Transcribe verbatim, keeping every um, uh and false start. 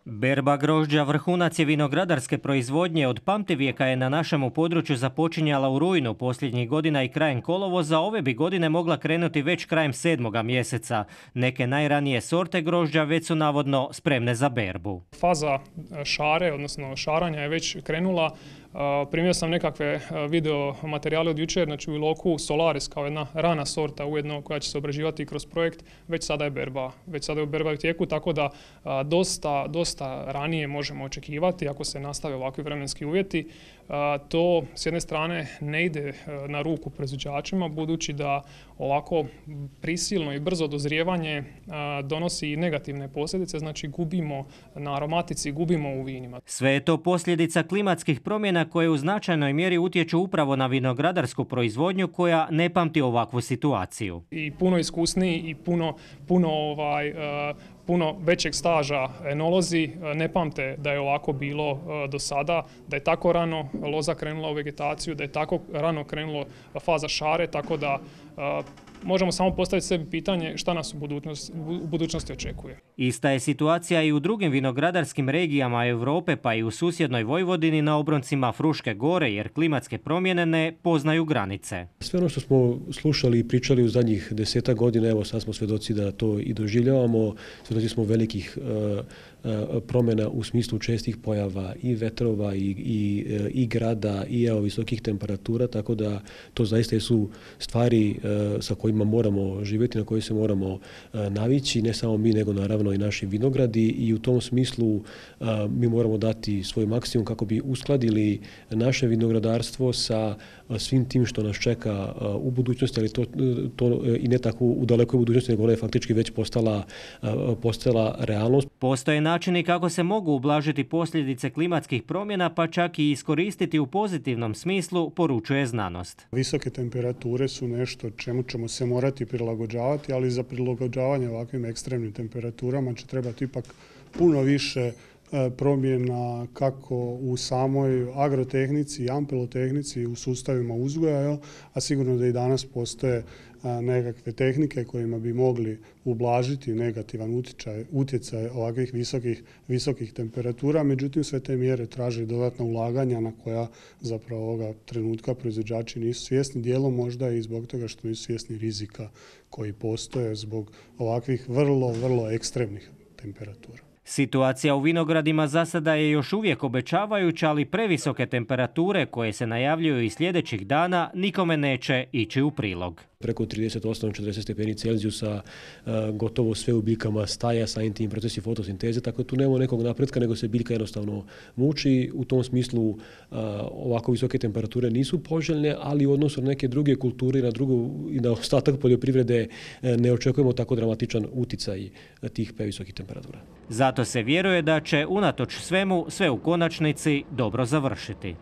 Berba grožđa vrhunac je vinogradarske proizvodnje. Od pamtivijeka je na našemu području započinjala u rujnu posljednjih godina i krajem kolovoza. Ove bi godine mogla krenuti već krajem sedmoga mjeseca. Neke najranije sorte grožđa već su navodno spremne za berbu. Faza šare, odnosno šaranja je već krenula. Primio sam nekakve video materijale od jučer, znači u Iloku Solaris kao jedna rana sorta ujedno koja će se obrađivati kroz projekt, već sada je berba, već sada je berba u tijeku, tako da dosta, dosta ranije možemo očekivati ako se nastave ovakvi vremenski uvjeti. To s jedne strane ne ide na ruku proizvođačima, budući da ovako prisilno i brzo dozrijevanje donosi negativne posljedice, znači gubimo na aromatici, gubimo u vinima. Sve je to posljedica klimatskih promjena koje u značajnoj mjeri utječu upravo na vinogradarsku proizvodnju koja ne pamti ovakvu situaciju. I puno iskusniji i puno, puno ovaj, puno većeg staža enolozi ne pamte da je ovako bilo do sada, da je tako rano loza krenula u vegetaciju, da je tako rano krenula faza šare, tako da možemo samo postaviti sebi pitanje šta nas u budućnosti, u budućnosti očekuje. Ista je situacija i u drugim vinogradarskim regijama Europe, pa i u susjednoj Vojvodini na obroncima Fruške gore, jer klimatske promjene ne poznaju granice. Sve ono što smo slušali i pričali u zadnjih desetak godina, evo sad smo svjedoci da to i doživljavamo, svjedoci smo velikih uh, uh, promjena u smislu čestih pojava i vetrova i, i, uh, i grada i evo, visokih temperatura, tako da to zaista su stvari uh, sa kojima moramo živjeti, na koje se moramo uh, navići, ne samo mi, nego naravno i naši vinogradi, i u tom smislu uh, mi moramo dati svoj maksimum kako bi uskladili naše vinogradarstvo sa uh, svim tim što nas čeka uh, u budućnosti, ali to, to uh, i ne tako u dalekoj budućnosti, nego ona je faktički već postala, uh, postala realnost. Postoje načini kako se mogu ublažiti posljedice klimatskih promjena, pa čak i iskoristiti u pozitivnom smislu, poručuje znanost. Visoke temperature su nešto čemu ćemo se morati prilagođavati, ali za prilagođavanje ovakvim ekstremnim temperaturama će trebati ipak puno više promjena kako u samoj agrotehnici i ampelotehnici, u sustavima uzgoja, a sigurno da i danas postoje nekakve tehnike kojima bi mogli ublažiti negativan utjecaj, utjecaj ovakvih visokih, visokih temperatura. Međutim, sve te mjere traže dodatna ulaganja na koja zapravo ovoga trenutka proizvođači nisu svjesni, dijelom možda i zbog toga što nisu svjesni rizika koji postoje zbog ovakvih vrlo, vrlo ekstremnih temperatura. Situacija u vinogradima za sada je još uvijek obećavajuća, ali previsoke temperature koje se najavljuju i sljedećih dana nikome neće ići u prilog. Preko trideset osam do četrdeset stepeni Celzijusa, gotovo sve u biljkama staja, samim tim procesi fotosinteze, tako da tu nema nekog napretka, nego se biljka jednostavno muči. U tom smislu ovako visoke temperature nisu poželjne, ali u odnosu na neke druge kulture i na, drugu, i na ostatak poljoprivrede ne očekujemo tako dramatičan uticaj tih previsokih temperatura. Zato se vjeruje da će unatoč svemu sve u konačnici dobro završiti.